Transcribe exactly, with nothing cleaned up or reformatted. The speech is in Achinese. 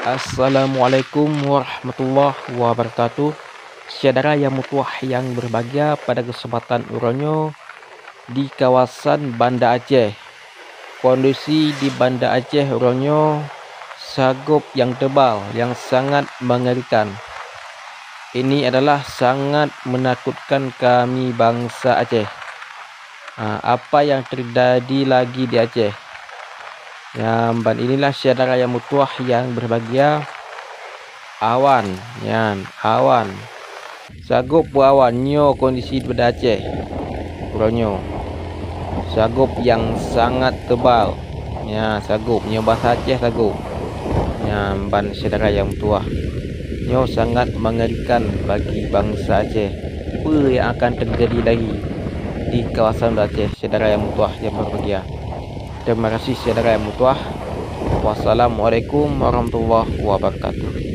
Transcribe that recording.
Assalamualaikum warahmatullahi wabarakatuh. Syedara nyang meutuwah nyang berbahagia, pada kesempatan uroe nyoe di kawasan Banda Aceh. Kondisi di Banda Aceh uroe nyoe sagop nyang tebal, nyang sangat mengerikan. Ini adalah sangat menakutkan kami bangsa Aceh. Ha, apa yang terjadi lagi di Aceh? Nyan, ban inilah syedara nyang meutuwah nyang berbahagia. Awan, nyan, awan. Sagop beuawan nyoe kondisi di Banda Aceh uroe nyoe. Sagop nyang sangat tebal. Nyan, sagop nyoe bahasa Aceh sagop. Nyan, ban syedara nyang meutuwah. Nyoe sangat mengerikan bagi bangsa Aceh. Peue nyang akan teujadi lagi di kawasan Aceh, syedara nyang meutuwah nyang berbahagia? Terima kasih syedara nyang meutuwah. Wassalamualaikum warahmatullahi wabarakatuh.